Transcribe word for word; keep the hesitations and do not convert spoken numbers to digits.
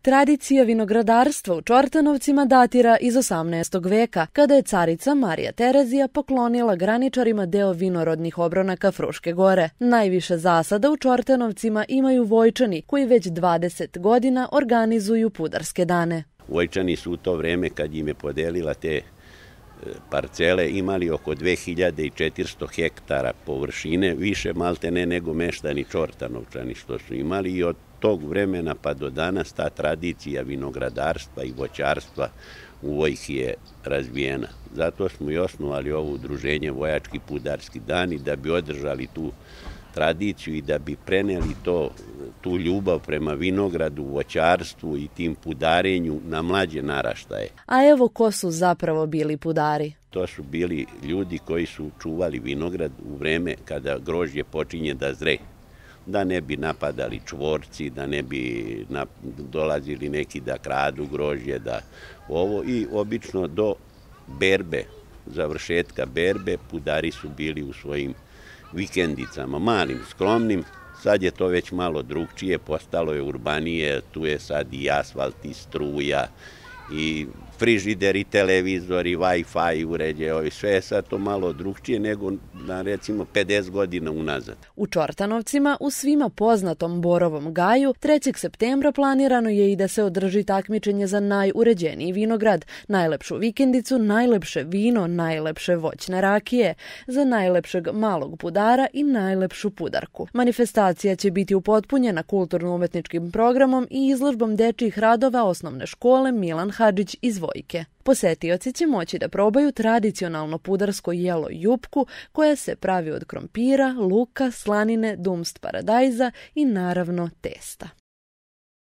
Tradicija vinogradarstva u Čortanovcima datira iz osamnaestog veka, kada je carica Marija Terezija poklonila graničarima deo vinorodnih obronaka Fruške gore. Najviše zasada u Čortanovcima imaju Vojčani, koji već dvadeset godina organizuju pudarske dane. Vojčani su u to vreme, kad im je podelila te parcele, imali oko dve hiljade četiristo hektara površine, više maltene nego meštani Čortanovčani što su imali, i od tog vremena pa do danas ta tradicija vinogradarstva i voćarstva u Vojki je razvijena. Zato smo i osnovali ovo udruženje Vojački pudarski dani, da bi održali tu tradiciju i da bi preneli to, tu ljubav prema vinogradu, voćarstvu i tim pudarenju na mlađe naraštaje. A evo ko su zapravo bili pudari? To su bili ljudi koji su čuvali vinograd u vreme kada grožđe počinje da zre, da ne bi napadali čvorci, da ne bi dolazili neki da kradu grožđe, da ovo, i obično do berbe, završetka berbe, pudari su bili u svojim vikendicama, malim, skromnim. Sad je to već malo drugčije, postalo je urbanije, tu je sad i asfalt, i struja, i frižider, i televizor, i Wi-Fi uređaje, sve je sad to malo drugčije nego na recimo pedeset godina unazad. U Čortanovcima, u svima poznatom Borovom gaju, trećeg septembra planirano je i da se održi takmičenje za najuređeniji vinograd, najlepšu vikendicu, najlepše vino, najlepše voćne rakije, za najlepšeg malog pudara i najlepšu pudarku. Manifestacija će biti upotpunjena kulturno-umetničkim programom i izložbom dečjih radova osnovne škole Milan Hadžić iz Vojke. Posetioci će moći da probaju tradicionalno pudarsko jelo jupku, koja se pravi od krompira, luka, slanine, dumst paradajza i naravno testa.